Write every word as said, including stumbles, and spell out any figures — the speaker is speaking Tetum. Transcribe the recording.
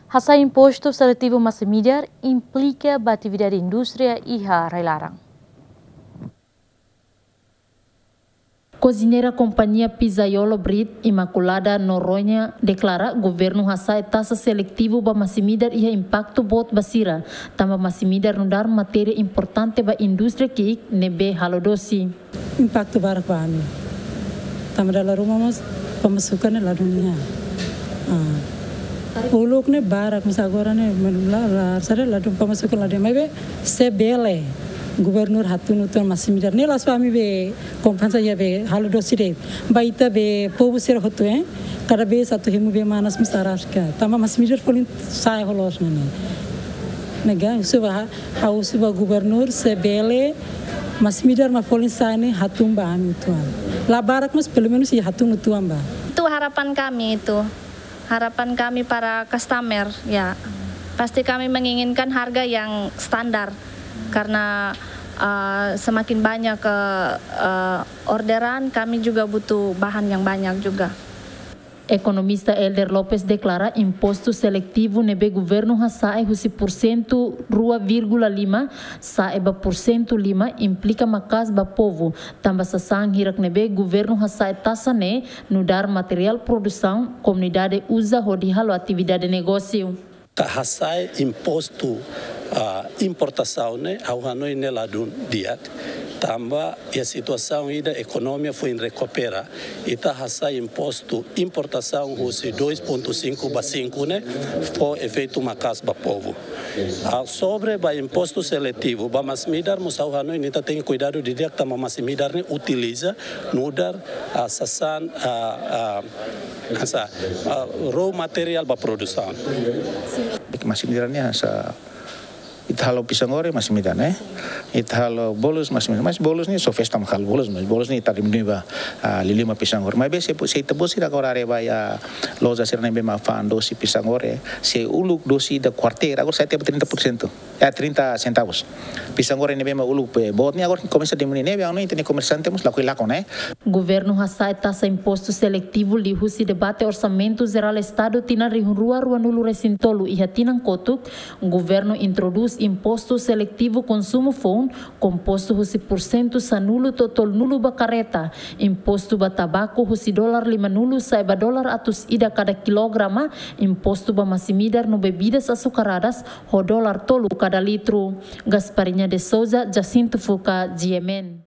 Hasa'e impostu seletivu masin-midar implika ba atividade indústria iha rai-laran. Koziñeira kompañia pizzaiolo Brit, Imaculada Noronha, deklara governu hasa'e taxa seletivu ba masin-midar iha impaktu boot ba sira, tanba masin-midar nu'udar matéria importante ba indústria ki'ik ne'ebé halo dosi. Impaktu barak ba ami. Tanba dala ruma mós pemasukan ne'e ladún iha. Ah. Uluk ne'e barak, mas agora ne'e menula la sare ladún, pemasukan ladún. Maibé se bele governu hatún uitoan masin-midar. Ne'e la'ós ba ami be kompensa iha be halo dosi de'it. Ba ita be povu sira hotu, eh. Kada vez atu hemu bee manas mós araska. Tanba masin-midar folin sa'e ho loos ne'e. Ne'e ga, husu ba ha, ha'u husu ba governu se bele masin-midar mak folin sa'e ne'e hatún ba ami uitoan. La barak mas pelumenus iha hatún uitoan ba. Itu harapan kami itu. Harapan kami para customer, ya. Pasti kami menginginkan harga yang standar. Karena, eh, semakin banyak, eh, eh, orderan, kami juga butuh bahan yang banyak juga. Ekonomista Helder Lopes deklara impostu seletivu ne'ebé governu hasa'e husi pursentu rua vírgula lima sa'e ba pursentu lima implika maka'as ba povu, tanba sasán hirak ne'ebé governu hasa'e taxa ne'e nu'udar materiál produsaun komunidade uza hodi halo atividade negósiu. Ka hasa'e impostu, ah, importasaun ne'e, ha'u hanoin ne'e ladún di'ak, tanba iha situasaun ida ekonomia foin rekupera, ita hasa'e impostu importasaun husi dois ponto cinco ba cinco ne'e, fó efeitu maka'as ba povu. Ah, sobre ba impostu seletivu, ba masin-midar mós ha'u hanoin ita tenke kuidadu didi'ak tanba masin-midar ne'e utiliza nu'udar, ah, sasán, ah, ah, hanesan, ah, raw material ba produsaun. Masin-midar ne'e hanesan ita halo pisang goreng masin-midar ne'e. Ita halo bolus masin-midar. Mas bolus ne'e só festa mak halo bolus, mas bolus ne'e ita diminui ba, ah, liuliu ba pisang goreng. Maibé se, se ita-boot sira agora haree ba iha loja sira ne'ebé mak fa'an dosi pisang goreng, se uluk dosi ida kuarteira, agora sa'e tiha ba trinta por cento. Eh, trinta centavos. Pisang goreng ne'ebé mak uluk, eh, boot ne'e agora komesa diminui ne'ebé, anu, ita-nia komersante mós lakohi lakon, eh. Governu hasa'e taxa impostu seletivu liuhusi debate Orsamentu Jerál Estadu tinan rihun rua ruanulu-resin-tolu iha tinan kotuk, governu introdús impostu seletivu konsumu foun, kompostu husi pursentu sanulu to'o tolunulu ba kareta, impostu ba tabaku husi dolar limanulu sa'e ba dolar atus ida kada kilograma, impostu ba masin-midar no bebidas açucaradas ho dolar tolu kada litru. Gasparinha de Souza, Jacinto Fuca, G M N.